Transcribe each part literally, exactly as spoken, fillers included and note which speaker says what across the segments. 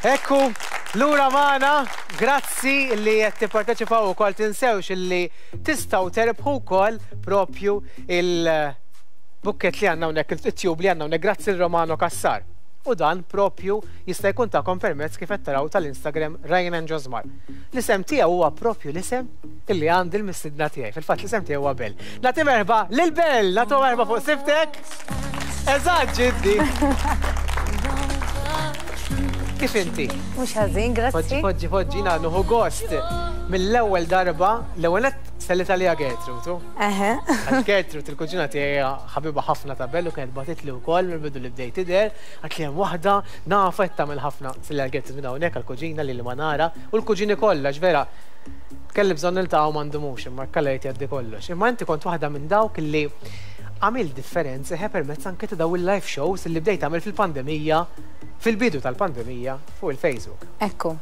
Speaker 1: Ekku, lura magħna, grazzi li qed tipparteċipaw ukoll. Tinsewx li tistgħu terbħu wkoll propju il-bukket li għandna hawnhekk, it-tube li għandna hawnhekk, grazzi l-Romano Cassar. U dan propju jista' jkun tagħkom permezz, kif qed taraw, tal-Instagram Ryan and Josmar. L-isem tiegħu huwa propju l-isem illi għandi l-mistidna tiegħi. Fil-fatt l-isem tiegħu huwa Bell. Nagħti merħba lil Bell, nagħtu merħba fuq siftek. Eżatt, ġiddi. Kif inti?
Speaker 2: Mhux ħażin, grazzi.
Speaker 1: Poġġi, poġġi, poġġi, nieħu gost. Mill-ewwel darba, l-ewwel qed sellit għalija Gertrude. Tu.
Speaker 2: Eħe.
Speaker 1: Għax Gertrude, il-kuġina tiegħi, ħabiba ħafna ta' Bellu, kienet bagħtitli wkoll mill-bidu li bdejt tidher, għax li hemm waħda nafa qed tagħmel ħafna. Selli għal Gertrude minn hawnhekk, għall-kuġina li li ma nara u l-kuġini kollha, vera kelli bżonn niltaqgħu m'għandhomux, imma kalla jgħid jgħaddi kollox. Imma inti kont waħda minn dawk li għamil differenza ħe permezz anke ta' daw il-live shows li bdejt tagħmel fil-pandemija, fil-bidu tal-pandemija, fuq il-Facebook.
Speaker 2: Ekku.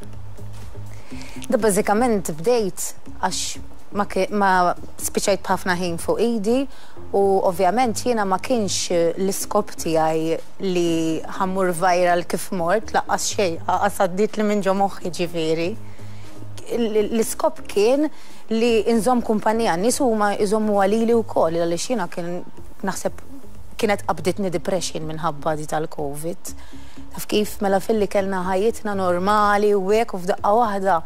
Speaker 2: Da bażikament bdejt għax ma, ki- ma spiċajt b'ħafna ħin fuq idi u ovvjament jiena ma kienx l-iskop tiegħi li ħa mmur viral kif mort, lanqas xejn, lanqas għaddiet li minn ġo moħħi ġifieri. L- L-iskop kien li nżomm kumpanija, nies huma jżommu għalili wkoll, għaliex jiena kien naħseb kienet qabditni depression minħabba di tal-Covid. Taf kif, mela filli kellna ħajjitna normali u hekk u f'daqqa waħda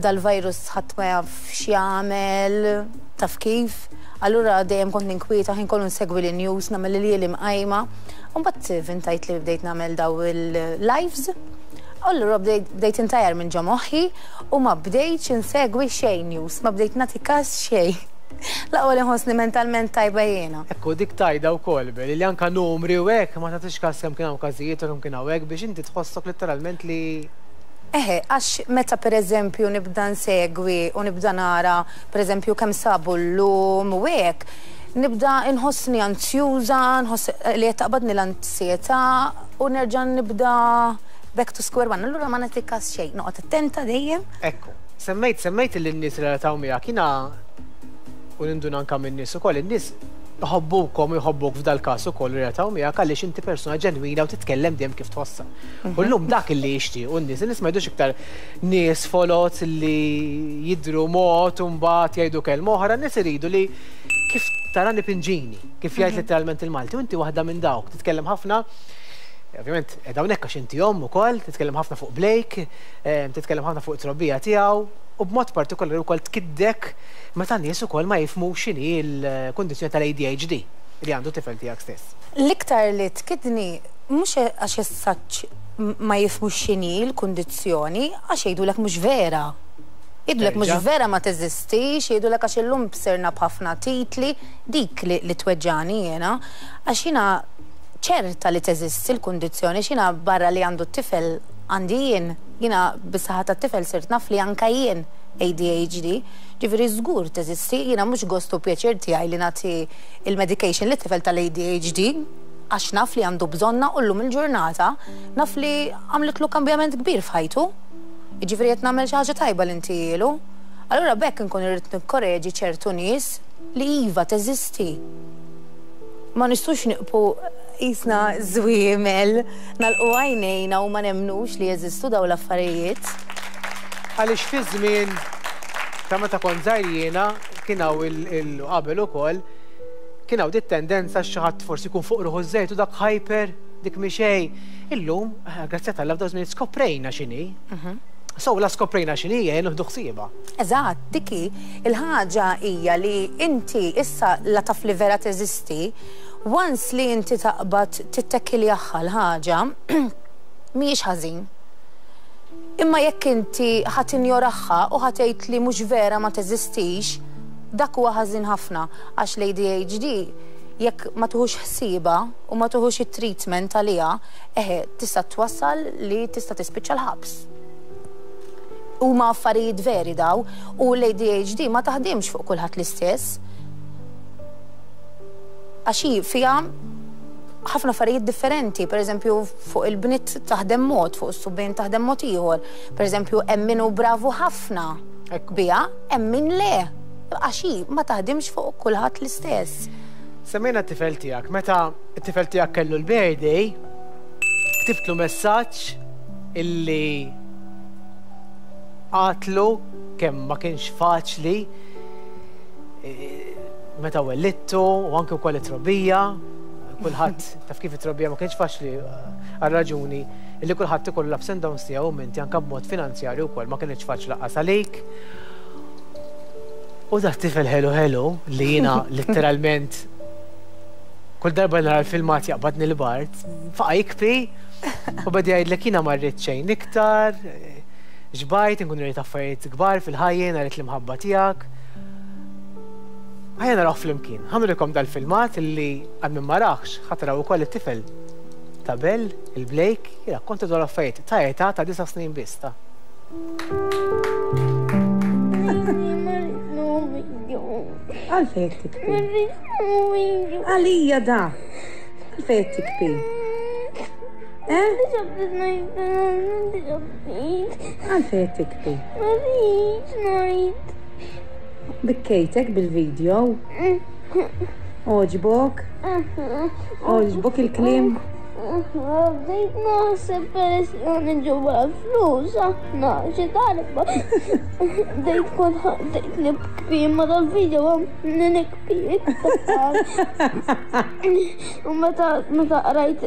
Speaker 2: dal-virus ħadd ma jaf x'jagħmel, taf kif. Allura dejjem kont ninkwieta, ħin kollu nsegwi l-news, nagħmel li li mqajma. U mbagħad vintajt li bdejt nagħmel daw il-lives. Allura bdejt bdejt intajjar minn ġo moħħi u ma bdejtx insegwi xejn news, ma bdejt nagħti kas xejn. L-aqwa li nħossni mentalment tajba jiena.
Speaker 1: Ekku, dik tajda wkoll, Bel, li anka numri u hekk ma tagħtix kas kemm kien hawn każijiet u kemm kien hawn hekk biex inti tħossok letteralment li
Speaker 2: Eħe, għax meta per eżempju nibda nsegwi u nibda nara per eżempju kemm sabu l-lum u hekk, nibda nħossni anzjuża, nħoss li qed taqbadni l-ansjetà u nerġa' nibda back to square one. Allura ma nagħti kas xejn, noqgħod attenta dejjem.
Speaker 1: Ekku, semmejt semmejt li n-nies relataw miegħek, jiena u ninduna anka minn nies ukoll, in-nies jħobbukom, jħobbuk f'dal każ ukoll, relataw miegħek għaliex inti persuna ġenwina u titkellem dejjem kif tħossha. U llum dak li jixtiequ n-nies, in-nies ma jridux iktar nies foloz li jidru mod u mbagħad jgħidu kelma oħra, n-nies iridu li kif tarani pinġini, kif jgħid letteralment il-Malti, u inti waħda minn dawk, titkellem ħafna. Ovvjament, qiegħda hawnhekk għax inti omm ukoll, titkellem ħafna fuq Blake, eh, titkellem ħafna fuq it-trobbija tiegħu, u b'mod partikolari wkoll tkiddek meta nies ukoll ma jifhmux x'inhi l-kundizzjoni tal-A D H D li għandu tifel tiegħek stess.
Speaker 2: L-iktar li tkidni mhux għax essaċ ma jifhmux x'inhi l-kundizzjoni, għax jgħidulek mhux vera. Jgħidulek mhux
Speaker 1: Terġa'.
Speaker 2: vera, ma teżistix, jgħidulek għax illum bsirna b'ħafna titli, dik li, li tweġġani jiena, għax jiena ċerta li teżisti l-kundizzjoni, x'jiena barra li għandu t-tifel għandi jien, jiena bis-saħħa tat-tifel sirt naf li anka jien A D H D, ġifieri żgur teżisti, jiena mhux gostu pjaċir tiegħi li nagħti il-medication li tifel tal-A D H D, għax naf li għandu bżonna u llum il-ġurnata naf li għamlitlu kambjament kbir f'ħajtu. Ġifieri qed nagħmel xi ħaġa tajba li intilu. Allura bekk nkun irrid nikkoreġi ċertu nies li iva teżisti. Ma nistux niqpu jisna żwiemel, nagħlqu għajnejna u ma nemnux li jeżistu daw l-affarijiet.
Speaker 1: Għaliex fi żmien ta' meta kont żgħir jiena kien hawn il-qabel ukoll kien hawn dit tendenza xi ħadd forsi jkun fuq ruħu żejt u dak hyper, dik mi xejn. Illum, eh, grazzi tal f'daw żmien skoprejna x'inhi. So la skoprejna x'inhi jien nieħdu ħsiebha.
Speaker 2: Eżatt, diki, il-ħaġa hija li inti issa la taf li vera teżisti, once li inti taqbad tittekiljaħħa l-ħaġa, mhijiex ħażin. Imma jekk inti ħa tinjoraha u ħa tgħid li mhux vera, ma teżistix, dak huwa ħażin ħafna, għax l-A D H D jekk ma tuħux ħsieba u ma tuħux it-treatment għaliha, eħe, tista' twassal li tista' tispiċċa l-ħabs. Huma affarijiet veri daw u l-A D H D ma taħdimx fuq kulħadd l-istess. Għax hi fiha ħafna affarijiet differenti, per eżempju fuq il-bniet taħdem mod, fuq is-subien taħdem mod ieħor. Per eżempju hemm min hu bravu ħafna
Speaker 1: Ekku.
Speaker 2: biha, hemm min le. Għax hi ma taħdimx fuq kulħadd l-istess.
Speaker 1: Semmejna t-tifel tiegħek, meta t-tifel tiegħek kellu l-birthday, ktibtlu messaġġ illi għatlu kemm ma kienx faċli meta wellittu u anke wkoll it-trobbija, kulħadd taf kif it-trobbija ma kienx faċli għal raġuni illi kulħadd ikollu l-ups and downs tiegħu minti anke b'mod finanzjarju wkoll ma kienx faċli lanqas għalik. U dak tifel ħelu ħelu li jiena letteralment kull darba nara l-filmat jaqbadni l-bard, faqa jikpi u beda jgħidlek jiena ma rrid xejn iktar, xbajt, nkun rrid affarijiet kbar fil-ħajja, rrid l-imħabba tiegħek. Ħajja naraw flimkien. Ħa nurikom dal-filmat illi għal min ma rahx, ħa taraw ukoll it-tifel ta' Bell, il-Blake, jirrakkonta dwar affarijiet ta' età ta' disa' snin biss ta'.
Speaker 3: Għalfejn tikbi? Għalija da. Għalfejn tikbi? Eh? Għalfejn tikbi? Bikkejtek bil-video? Oġbok? Oġbok il-klim?
Speaker 4: Bdejt naħseb peress li għan nġuba flus, aħna xi darba. Bdejt kont bdejt nibki ma dal-video għam nikbi iktar. U meta meta qrajt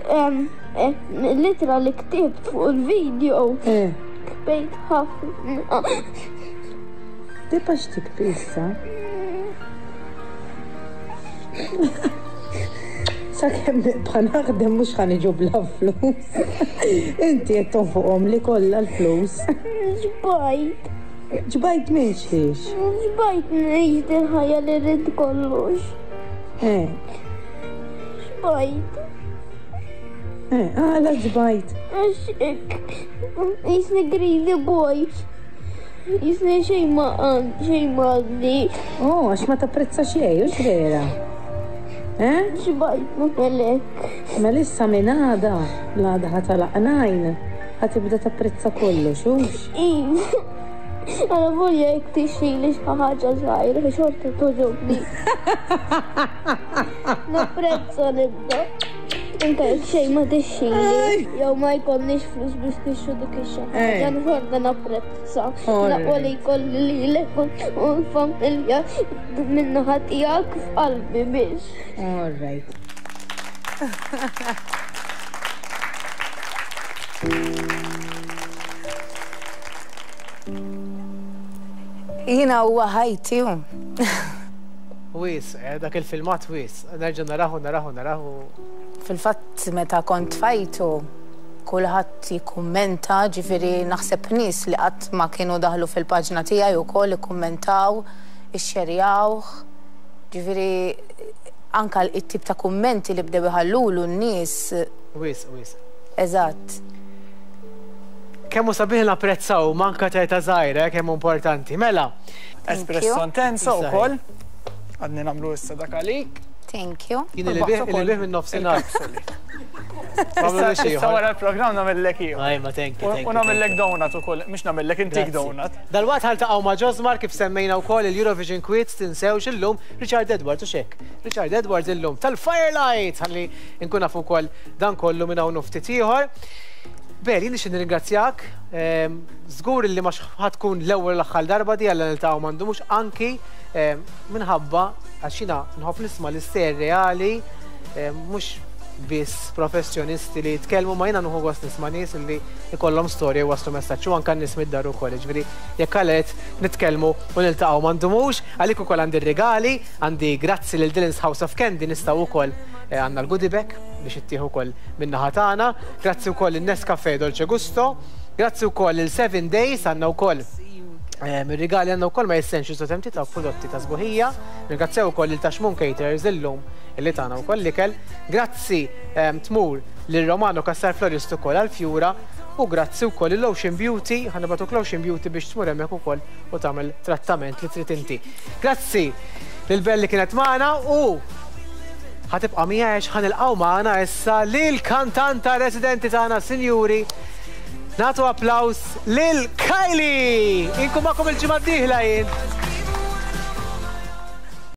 Speaker 4: litra li ktibt fuq il-video, kbejt ħafna.
Speaker 3: Tibqax tikbi issa. Sakemm nibqa' naħdem mhux ħa niġu bla flus. Inti qed tonfoqhom li kollha l-flus.
Speaker 4: Ġbajt.
Speaker 3: Ġbajt minn xiex?
Speaker 4: Ġbajt ngħix il-ħajja li rrid kollox.
Speaker 3: Eh.
Speaker 4: Ġbajt.
Speaker 3: Eh, għala ġbajt.
Speaker 4: Għax hekk jisni greedy boy. Jisni xejn ma għand, xejn ma għandi.
Speaker 3: Oh, għax ma tapprezza xejn, hux vera? Eh?
Speaker 4: Xbajt melek.
Speaker 3: Mela issa minn għada, l-għada ħa tagħlaq najn, ħa tibda tapprezza kollox, hux?
Speaker 4: Iva. Għala volja jekk tixtrili xi ħaġa żgħira, xorta togħġobni. Napprezza nibda. Anke jekk xejn ma tixtrili, jew ma jkollniex flus biex nixtru dik ix-xi ħaġa, xorta napprezza. L-aqwa li jkolli lilek u l-familja min-naħa tiegħek f'qalbi biex.
Speaker 3: All right.
Speaker 2: Jiena huwa ħajti.
Speaker 1: Wis, dak il-filmat wis. Nerġa' narahu, narahu, narahu.
Speaker 2: Fil-fatt meta kont fajtu, kulħadd jikkummenta, ġifieri naħseb nies li qatt ma kienu daħlu fil-paġna tiegħi wkoll ikkummentaw, ixxerjawh. Ġifieri anka it-tip ta' kummenti li bdew iħallulu n-nies.
Speaker 1: Wis, wis.
Speaker 2: Eżatt.
Speaker 1: Kemm hu sabiħ napprezzaw manka ta' età żgħira, kemm hu importanti. Mela.
Speaker 5: Espresso intenso wkoll. Għadni nagħmlu issa dak għalik.
Speaker 2: Thank you.
Speaker 1: Jien li bih li bih minn nofsinhar.
Speaker 5: Issa wara l-programm nagħmellek ieħor.
Speaker 1: Ajma, thank you.
Speaker 5: U nagħmellek donut ukoll, mhux nagħmellek intik donut.
Speaker 1: Dalwaqt ħaltaqgħu ma' Josmar kif semmejna wkoll il-Eurovision Quiz, tinsewx illum Richard Edwards u xek. Richard Edwards illum tal-Firelight ħalli nkun nafu wkoll dan kollu minn hawn ftit ieħor. Bel, jien nixtieq nirringrazzjak. Żgur li ma tkun l-ewwel l-aħħar darba di għal niltaqgħu m'għandhomux anki minħabba għax jiena nħobb nisma' l-istejjer reali, mhux biss professjonisti li jitkellmu, ma jiena nieħu gost nisma' nies li jkollhom storja u waslu messaġġ u anke n-nies mid-dar ukoll. Jiġifieri jekk għalet nitkellmu u niltaqgħu m'għandhomux, għalik ukoll għandi r-rigali, għandi grazzi lil Dylan's House of Candy nistgħu wkoll għandna l-goodie bag biex ittieħu wkoll min-naħa tagħna. Grazzi wkoll in-Nescafe Dolce Gusto, grazzi wkoll il Seven Days għandna wkoll mir-rigali għandna wkoll ma Essentials u temti ta' prodotti ta' sbuħija. Ringrazzjaw ukoll il Taxmun Caterers illum illi tagħna wkoll l-ikel. Grazzi tmur lil Romano Cassar Florist ukoll għall-fjura u grazzi wkoll il Ocean Beauty, ħa nibgħatuk l-Ocean Beauty biex tmur hemmhekk ukoll u tagħmel trattament li trid inti. Grazzi lil Belli kienet magħna u ħatibqa' miegħi għax ħanilqgħu magħna issa lil kantanta residenti tagħna, sinjuri. Nagħtu applaws lil Kylie! Inkun magħkom il-ġimgħa d-dieħla jien.